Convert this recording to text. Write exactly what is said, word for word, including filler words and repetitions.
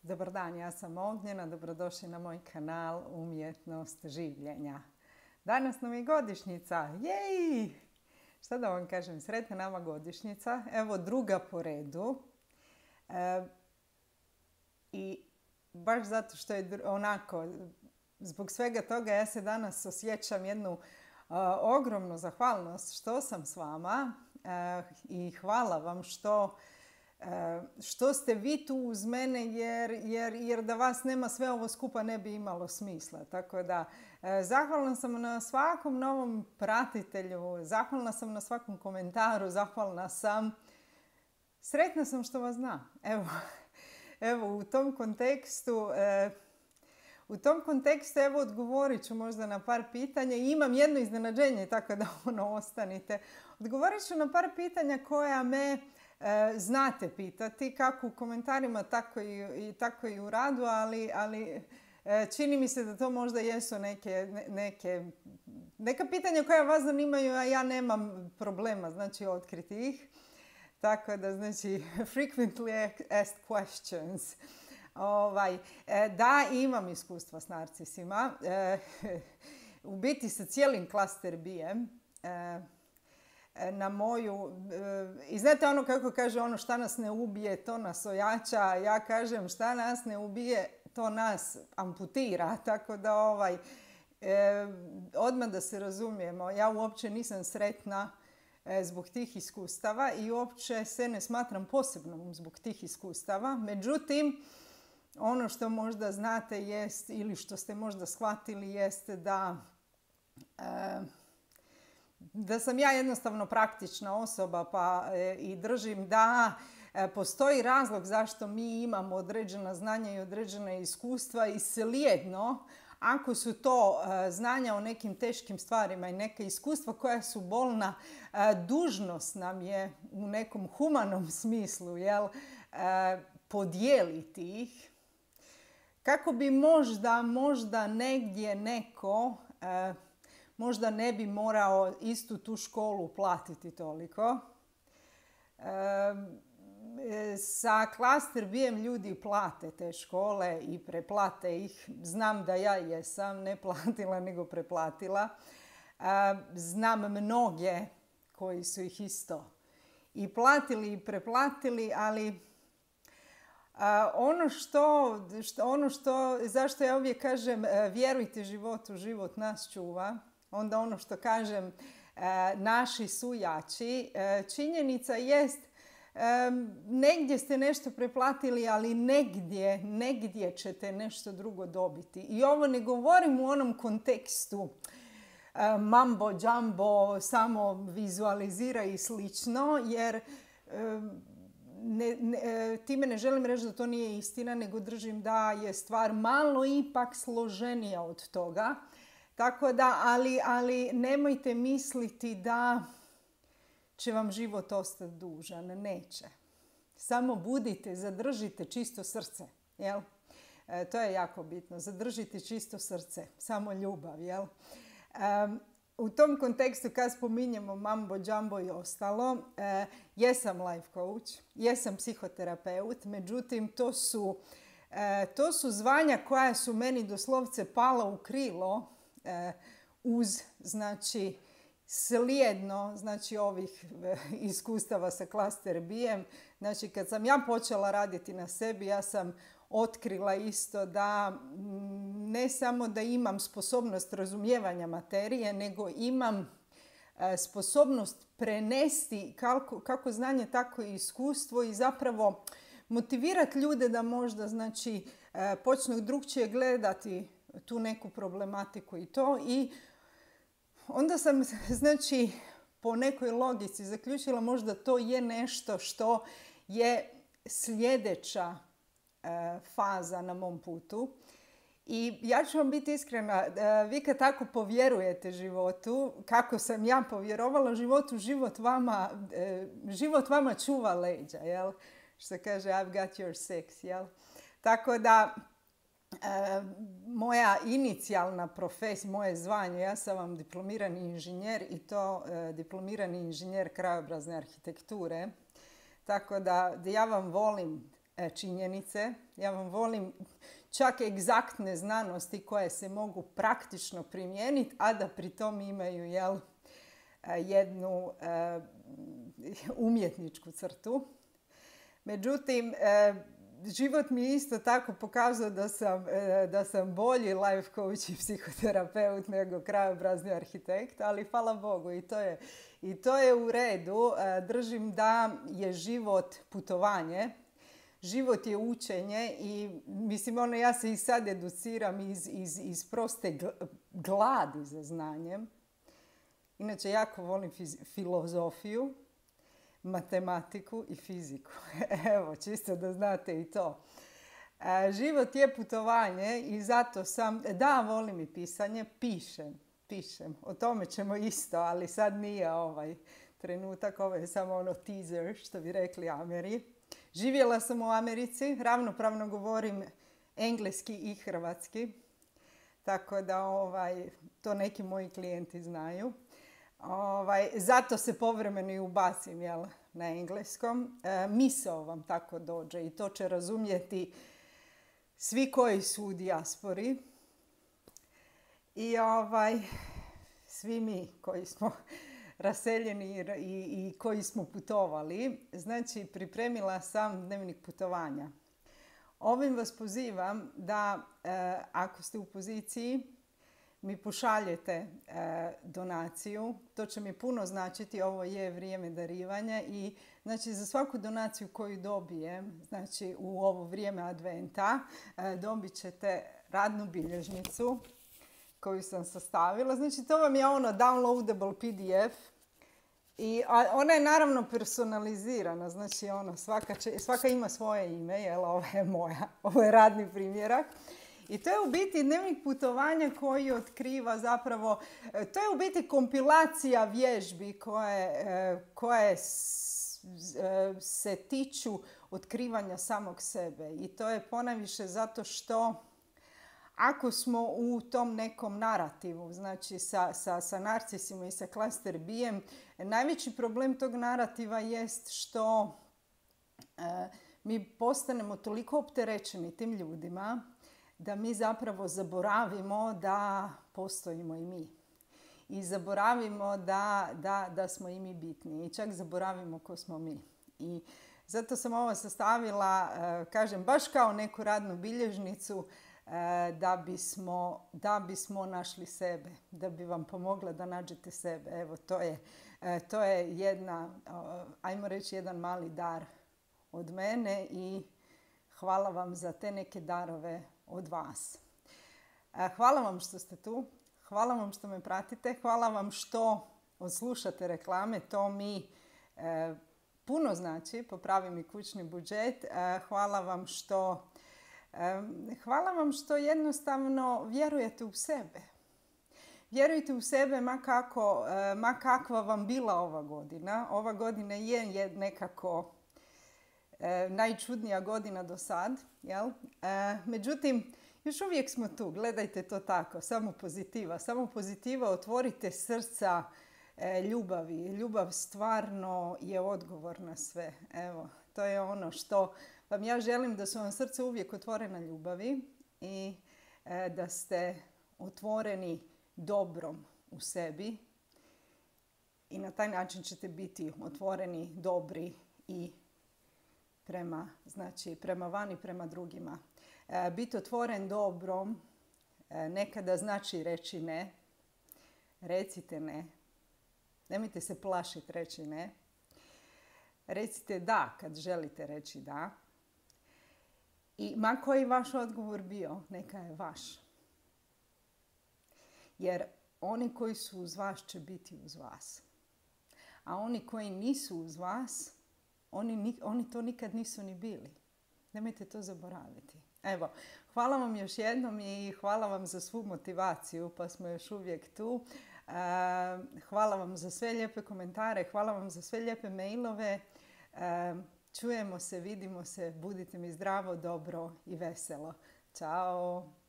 Dobar dan, ja sam Ognjena, dobrodošli na moj kanal Umjetnost življenja. Danas nam je godišnjica, jej! Šta da vam kažem, sretna nama godišnjica, evo druga po redu. E, I baš zato što je onako, zbog svega toga ja se danas osjećam jednu uh, ogromnu zahvalnost što sam s vama uh, i hvala vam što što ste vi tu uz mene, jer, jer, jer da vas nema sve ovo skupa ne bi imalo smisla. Tako da, zahvalna sam na svakom novom pratitelju, zahvalna sam na svakom komentaru, zahvalna sam. Sretna sam što vas znam. Evo, evo u tom kontekstu, u tom kontekstu evo odgovorit ću možda na par pitanja i imam jedno iznenađenje, tako da ono ostanite. Odgovorit ću na par pitanja koja me znate pitati, kako u komentarima, tako i, i, tako i u radu, ali, ali čini mi se da to možda jesu neke, neke, neka pitanja koja vas zanimaju, a ja nemam problema, znači, otkriti ih. Tako da, znači, frequently asked questions. Ovaj, da, imam iskustva s narcisima. U biti sa cijelim cluster bijem. Na moju, i znate ono kako kaže ono šta nas ne ubije, to nas ojača, ja kažem šta nas ne ubije, to nas amputira, tako da ovaj, eh, odmah da se razumijemo, ja uopće nisam sretna eh, zbog tih iskustava i uopće se ne smatram posebnom zbog tih iskustava, međutim, ono što možda znate jest, ili što ste možda shvatili jeste da eh, da sam ja jednostavno praktična osoba pa e, i držim da e, postoji razlog zašto mi imamo određena znanja i određena iskustva i slijedno ako su to e, znanja o nekim teškim stvarima i neka iskustva koja su bolna, e, dužnost nam je u nekom humanom smislu jel, e, podijeliti ih kako bi možda, možda negdje neko e, možda ne bi morao istu tu školu platiti toliko. E, sa Cluster bijem ljudi plate te škole i preplate ih. Znam da ja jesam, ne platila nego preplatila. E, znam mnoge koji su ih isto i platili i preplatili, ali a, ono što, što, ono što, zašto ja uvijek kažem vjerujte životu, život nas čuva. Onda ono što kažem, naši su jači. Činjenica jest, negdje ste nešto preplatili, ali negdje, negdje ćete nešto drugo dobiti. I ovo ne govorim u onom kontekstu mambo, jumbo, samo vizualizira i slično, jer ne, ne, time ne želim reći da to nije istina, nego držim da je stvar malo ipak složenija od toga. Tako da, ali, ali nemojte misliti da će vam život ostati dužan. Neće. Samo budite, zadržite čisto srce. Jel? E, to je jako bitno. Zadržite čisto srce. Samo ljubav. Jel? E, u tom kontekstu kad spominjemo mambo, jumbo i ostalo, e, jesam life coach, jesam psihoterapeut, međutim to su, e, to su zvanja koja su meni doslovce pala u krilo uz, znači, slijedno, znači, ovih iskustava sa Cluster bijem. Znači, kad sam ja počela raditi na sebi, ja sam otkrila isto da ne samo da imam sposobnost razumijevanja materije, nego imam sposobnost prenesti kako, kako znanje, tako i iskustvo i zapravo motivirati ljude da možda, znači, počnu drugčije gledati tu neku problematiku i to. I onda sam, znači, po nekoj logici zaključila možda to je nešto što je sljedeća e, faza na mom putu. I ja ću vam biti iskrena, e, vi kad tako povjerujete životu, kako sam ja povjerovala životu, život vama, e, život vama čuva leđa, jel? Što kaže I've got your six, jel? Tako da, E, moja inicijalna profesija, moje zvanje, ja sam vam diplomirani inženjer i to e, diplomirani inženjer krajobrazne arhitekture. Tako da, da ja vam volim činjenice. Ja vam volim čak egzaktne znanosti koje se mogu praktično primijeniti, a da pri tom imaju jel, jednu e, umjetničku crtu. Međutim, e, život mi je isto tako pokazao da sam, e, da sam bolji life coach i psihoterapeut nego krajobrazni arhitekt, ali hvala Bogu i to je, i to je u redu. E, držim da je život putovanje. Život je učenje i mislim, ono, ja se i sad educiram iz, iz, iz proste gladi za znanjem. Inače, jako volim fiz- filozofiju, matematiku i fiziku. Evo, čisto da znate i to. E, život je putovanje i zato sam, da, volim i pisanje, pišem, pišem. O tome ćemo isto, ali sad nije ovaj trenutak, ovo je samo ono teaser, što bi rekli Ameri. Živjela sam u Americi, ravnopravno govorim engleski i hrvatski, tako da ovaj, to neki moji klijenti znaju. Ovaj, zato se povremeno i ubacim jel, na engleskom. E, misao vam tako dođe i to će razumjeti svi koji su u dijaspori. I ovaj, svi mi koji smo raseljeni i, i koji smo putovali. Znači, pripremila sam dnevnik putovanja. Ovim vas pozivam da e, ako ste u poziciji mi pošaljete e, donaciju. To će mi puno značiti. Ovo je vrijeme darivanja i znači za svaku donaciju koju dobijem, znači u ovo vrijeme adventa, e, dobit ćete radnu bilježnicu koju sam sastavila. Znači to vam je ono downloadable P D F i a, ona je naravno personalizirana. Znači ono, svaka, će, svaka ima svoje ime, jel, ovo je moja, ovo je radni primjerak. I to je u biti dnevnik putovanja koji otkriva zapravo, to je u biti kompilacija vježbi koje, koje se tiču otkrivanja samog sebe. I to je ponajviše zato što ako smo u tom nekom narativu, znači sa, sa, sa narcisima i sa cluster B-em, najveći problem tog narativa jest što e, mi postanemo toliko opterećeni tim ljudima da mi zapravo zaboravimo da postojimo i mi. I zaboravimo da, da, da smo i mi bitni. I čak zaboravimo ko smo mi. I zato sam ovo sastavila, kažem, baš kao neku radnu bilježnicu da bismo, da bismo našli sebe. Da bi vam pomogla da nađete sebe. Evo, to je, to je jedna, ajmo reći, jedan mali dar od mene i hvala vam za te neke darove od vas. Hvala vam što ste tu, hvala vam što me pratite, hvala vam što odslušate reklame, to mi e, puno znači, popravi mi kućni budžet. E, hvala vam što, e, hvala vam što jednostavno vjerujete u sebe. Vjerujte u sebe ma, kako, e, ma kakva vam bila ova godina. Ova godina je, je nekako E, najčudnija godina do sad, jel? E, međutim, još uvijek smo tu, gledajte to tako, samo pozitiva. Samo pozitiva, otvorite srca e, ljubavi. Ljubav stvarno je odgovor na sve. Evo, to je ono što vam ja želim, da su vam srce uvijek otvorena ljubavi i e, da ste otvoreni dobrom u sebi i na taj način ćete biti otvoreni, dobri i prema, znači, prema vani, prema drugima. E, biti otvoren dobrom e, nekada znači reći ne. Recite ne. Nemojte se plašiti reći ne. Recite da kad želite reći da. I ma koji vaš odgovor bio, neka je vaš. Jer oni koji su uz vas će biti uz vas. A oni koji nisu uz vas, Oni, oni to nikad nisu ni bili. Nemojte to zaboraviti. Evo, hvala vam još jednom i hvala vam za svu motivaciju, pa smo još uvijek tu. Hvala vam za sve lijepe komentare, hvala vam za sve lijepe mailove. Čujemo se, vidimo se, budite mi zdravo, dobro i veselo. Ćao!